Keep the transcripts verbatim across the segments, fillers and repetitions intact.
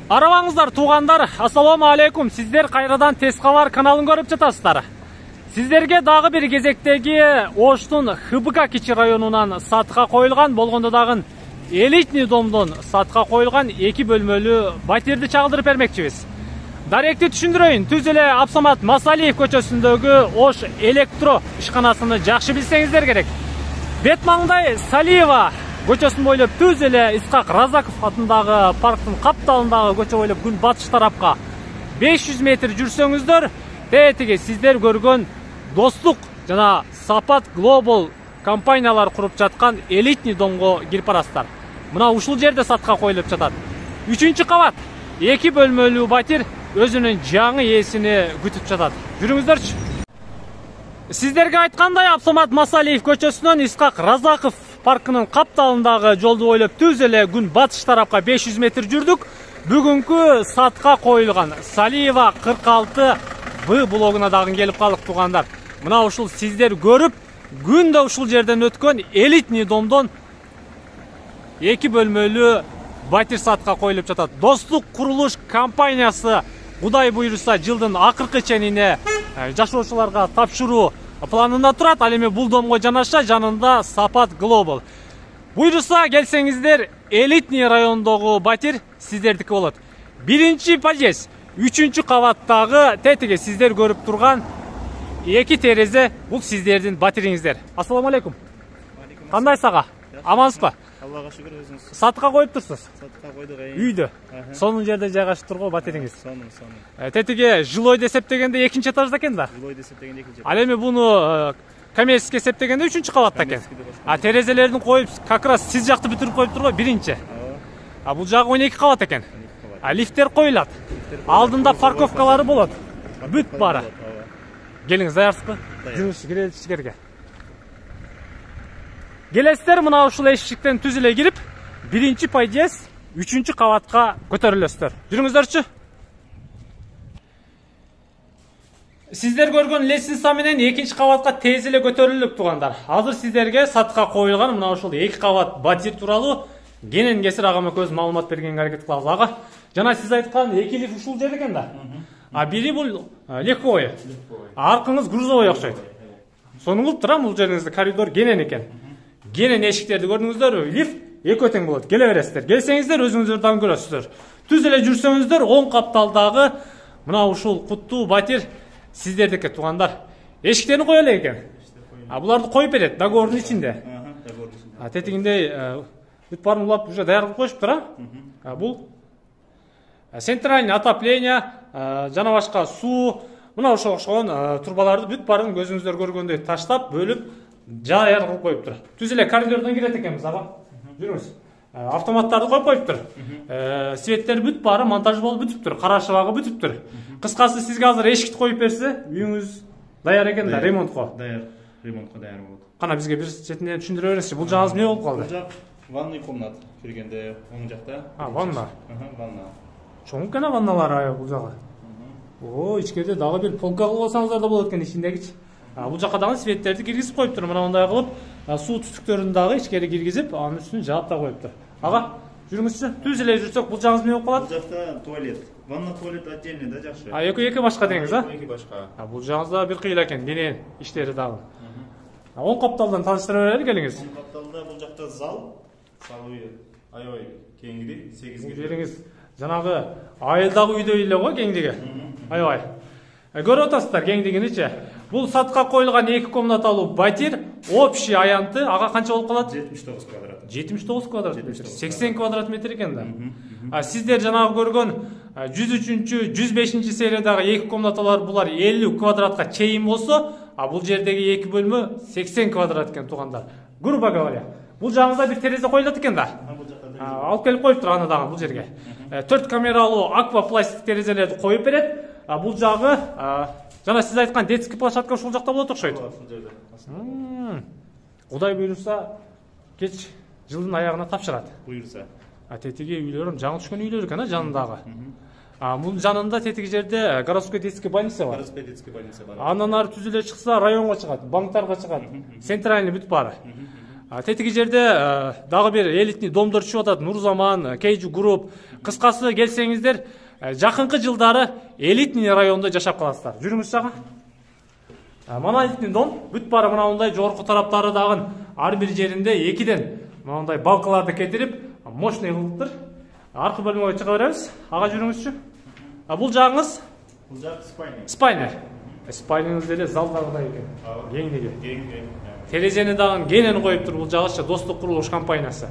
Арабаңыздар туугандар, ассаламу алейкум. Сиздер кайрадан Тез кабар каналын көрүп жатасыздар. Сиздерге дагы бир кезектеги Оштун Х Б К кичи районунан сатка коюлган, болгондо дагы элитный домдон сатка коюлган эки бөлмөлүү батирди чагылдырып бермекчибиз. Даректи түшүндүрөйүн. Түз эле Абсамат Масалиев көчөсүндөгү Ош электро ишканасыны жакшы билсеңиздер керек. Бет маңдай Салиева көчөсүн бойлоп түз эле Исхак Разаков атындагы парктын капталындагы көчө бойлоп күн батыш тарапка беш жүз метр жүрсөңүздөр, тетиги сиздер көргөн Достук жана Сапат Global компаниялар куруп жаткан элитный домго кирип барасыздар. Мына ушул жерде сатка коюлуп жатат. үчүнчү кабат эки бөлмөлүү батир өзүнүн жаңы ээсини күтүп жатат. Жүрүңүздөрчү. Сиздерге айткандай, Абсамат Масалиев көчөсүнөн Исхак Разаков паркынын капталындагы жолду бойлоп түз эле күн батыш тарапка беш жүз метр жүрдүк. Бүгүнкү сатка коюлган Салиева кырк алты Б блогуна дагы келип калдык туугандар. Мына ушул сиздер көрүп, күндө ушул жерден өткөн элитный домдон эки бөлмөлүү батир сатка коюлуп жатат. Достук курулуш компаниясы Кудай буйруса жылдын акыркы ченине жашоочуларга тапшыруу планында турат. Ал эми бул домго жанаша жанында Сапат Global. Буйруса келсеңиздер, элитный райондогу батир сиздердики болот. Биринчи подъезд, үчүнчү кабаттагы тетиги сиздер көрүп турган эки терезе бул сиздердин батириңиздер. Ассаламу алейкум. Кандай сага? Амансызбы? Аллага шүгүр, өзүңүз. Сатка коюп турсуз? Сатка койдук. Үйдө. Сонун жерде жайгашып турго батириңиз. Сонун, сонун. Тетиги жилой эсептегенде экинчи этажда экен да? Жилой эсептегенде экинчи. Ал эми буну коммерческий эсептегенде үчүнчү кабатта экен. А терезелерин коюп, как раз сиз жакты бүтүрүп коюп турго биринчи. А бул жагы он эки кабат экен. А лифттер коюлат. Алдында парковкалары болот. Бүт бара. Келиңиз, даярсызбы? Жүрүңүз, кирели ичкерге. Келесиздер, мына ушул эшиктен түз эле кирип, биринчи подъезд, үчүнчү кабатка көтөрүлөсүздөр. Жүрүңүздөрчү. Сиздер көргөн лестница менен экинчи кабатка тез эле көтөрүлүп туугандар. Азыр сиздерге сатка коюлган мына ушул эки кабат батир тууралуу кенен кесир агама көз маалымат бергенге аракет кылабыз. Ага, жана сиз айткан эки лифт ушул жерде экен да? А бири бул легковой. Аркыңыз грузовой окшойт. Сону кылып турам, бул жериңизде коридор кенен экен. Кенен эшиктерди көрдүңүздөрбү? Лифт эки тең болот. Келе бересиздер. Келсеңиздер, өзүңүздөр дагы көрөсүздөр. Түз эле жүрсөңүздөр, оң капталдагы мына ушул куттуу батир сиздердики туугандар. Эшиктерин кое элек экен. А буларды коюп берет договордун ичинде. А тетигинде бүт баарын улап уже даяр кылып коюшуптур, а? Бул центральный отопление, жана башка суу, мына ошого окшогон турбаларды бүт баарын көзүңүздөр көргөндөй таштап, бөлүп, даяр кылып коюптур. Түз эле коридордон кирет экенбиз, ага. Жүрүңүз. Автоматтарды коюп коюптур. Светтер бүт баары монтаж болуп бүтүптүр, кара шыбагы бүтүптүр. Кыскасы, сизге азыр эшикти коюп берсе, үйүңүз даяр экен да, ремонтко. Даяр, ремонтко даяр болот. Кана бизге бир четинен түшүндүрө бересизчи, бул жагыңыз эмне болуп калды? Бул жак ванный комната киргенде оң жакта. А, ванна. Аха, ванна. Чоң экен ванналар бул жагы. О, ичкерде дагы бир полка кылып алсаңыздар да болот экен ичиндегичи. А бул жака дагы светтерди киргизип коюптур. Мына мындай кылып, суу түтүктөрүн дагы ичкери киргизип, анын үстүн жаап да коюптур. Ага, жүрүңүзчү. Түз эле жүрсөк, бул жагыңыз эмне болуп калат? Бул жакта туалет. Ванна, туалет отдельный да, жакшы. А эки-эки башка деңиз, а? Эки башка. А бул жагыңыз да бир кыйла экен, кенен иштери дагы. А оң капталдан таныштыра берели келиңиз. Оң капталда бул жакта зал, салуу аябай кеңири, сегиз бул жериңиз жанагы айылдагы үйдөй эле го кеңдиги. Аябай. Көрүп атасыздар кеңдигиничи. Бул сатка коюлган эки комнаталуу батир, общий аянты ага канча болуп калат? жетимиш тогуз квадрат. жетимиш тогуз квадрат метр. сексен квадрат метр экен да. А сиздер жанагы көргөн жүз үчүнчү, жүз бешинчи сериядагы эки комнаталар булар элүү квадратка чейин болсо, а бул жердеги эки бөлмө сексен квадрат экен туугандар. Грубо говоря. Бул жагыңызда бир терезе коюлат экен да. Алып келип коюптур аны дагы бул жерге. төрт камералуу аквапластик терезелерди коюп берет. А бул жагы жана сиз айткан детский площадка ушул жакта болот окшойт. Ушул жерде. Кудай буйруса кеч жылдын аягына тапшырат. Буйруса. А тетиги үйлөрүм жаңы түшкөн үйлөр экен, а жанындагы. А бул жанында тетиги жерде городской детский больница бар. Городской детский больница бар. Андан ары түз эле чыкса районго чыгат, банктарга чыгат. Центральный бүт баары. Тетиги жерде дагы бир элитный домдор түшүп атат. Нурзаман, Кейджи Групп. Кыскасы келсеңиздер, жакынкы жылдары элитный райондо жашап каласыздар. Жүрүңүз жага. Монолитный дом бүт баары мынандай жогорку тараптары дагы ар бир жеринде экиден мынандай балкаларды кетирип, мощный кылыптыр. Аркы бөлмөгө чыга беребиз. Ага жүрүңүзчү. Бул жагыңыз? Бул жак спальня. Спальня. Спальняңыз деле залдагыдай экен. Кеңдиги. Кең. Терезени дагы кенен коюптур бул жагыча Достук курулуш компаниясы.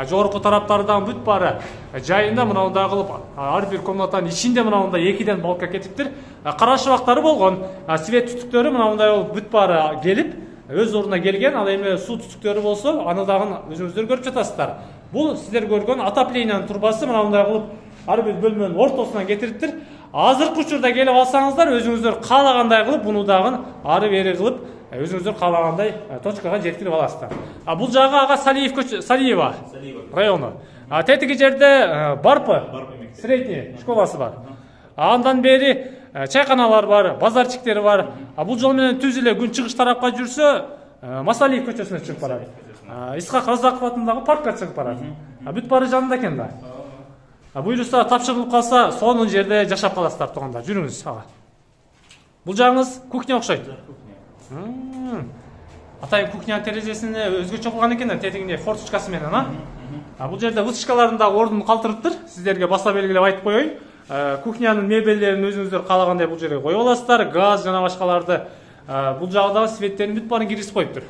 Жогорку тараптары дагы бүт баары жайында мынандай кылып, ар бир комнатанын ичинде мынандай экиден балка кетиптир. Кара шыбактары болгон, свет түтүктөрү мынандай болуп бүт баары келип, өз ордуна келген. Ал эми суу түтүктөрү болсо, аны дагы өзүңүздөр көрүп жатасыздар. Бул сиздер көргөн отоплениянын турбасы мынандай кылып ар бир бөлмөнүн ортосуна кетириптир. Азыркы учурда келип алсаңыздар, өзүңүздөр каалагандай кылып, буну дагы ары бери кылып, өзүңүздөр каалагандай точкага жеткирип аласыздар. А бул жагы ага Салиев көчө, Салиева району. А тетиги жерде Барпы, средний школасы бар. Андан бери чайканалар бар, базарчиктери бар. А бул жол менен түз эле күн чыгыш тарапка жүрсө, Масалиев көчөсүнө чыгып барат. Исхак Разаков атындагы паркка чыгып барат. А бүт баары жанында экен да. Буюрса тапшырылып калса, сонун жерде жашап каласыздар туугандар. Жүрүңүз ага. Бул жагыңыз кухня окшойт. Атайын кухнянын терезесине өзгөчө кылган экен да, тетигине форточкасы менен, а? Бул жерде вытяжкалардын да ордун калтырыптыр. Сиздерге баса белгилеп айтып коеюн. Кухнянын мебелдерин өзүңүздөр каалагандай бул жерге коюп аласыздар. Газ жана башкаларды. Бул жагдагы светтерин бүт баарын киргизип коюптур.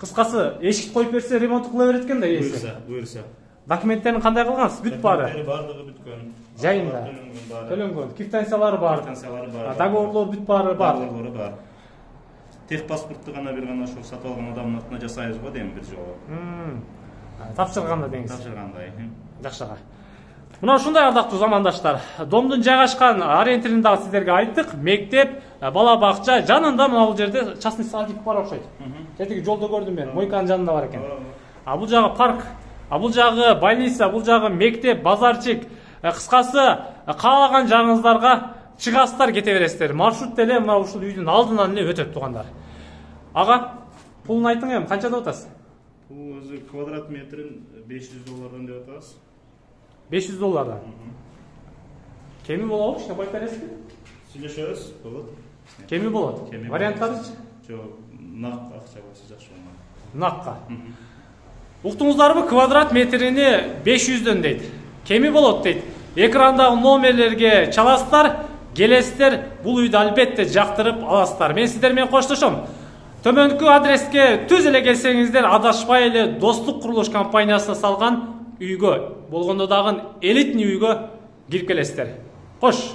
Кыскасы, эшикти коюп берсе ремонт кыла берет экен да ээси. Буйрса, буйрса. Документтерин кандай кылгансыз? Бүт баары. Бардыгы бүткөн. Жайында. Төлөнгөн. Квитанциялары бар. Квитанциялары бар. Договорлор бүт баары бар. Договорлору бар. Тех паспортту гана бир гана ошол сатып алган адамдын атына жасайбыз го дейм бир жолу. Тапшырганда деңиз. Тапшыргандай. Жакшыга. Мына ушундай ардактуу замандаштар. Домдун жайгашкан ориентирин дагы сиздерге айттык. Мектеп, бала бакча жанында мына бул жерде частный садик бар окшойт. Тетиги жолдо көрдүм мен. Мойканын жанында бар экен. А бул жагы парк, а бул жагы больница, бул жагы мектеп, базарчик. Кыскасы, каалаган жагыңыздарга чыгасыздар, кете бересиздер. Маршрут деле мына ушул үйдүн алдынан эле өтөт туугандар. Ага, пулун айтың эми, канча деп атасыз? Бул өзү квадрат метрин беш жүз доллардан деп атабыз. беш жүз доллардан. Кеми болобу, иште коюп бересизби? Сүйлөшөбүз, болот. Кеми болот. Варианттарычы? Жок, нак акча болсо жакшы болот. Накка. Уктуңуздарбы, квадрат метрини беш жүздөн дейт. Кеми болот дейт. Экрандагы номерлерге чаласыздар, келесиздер, бул үйдү албетте жактырып аласыздар. Мен сиздер менен коштошом. Төмөнкү адреске түз эле келсеңиздер, адашпай эле Достук курулуш компаниясына салган үйгө, болгондо дагы элитный үйгө кирип келесиздер. Кош.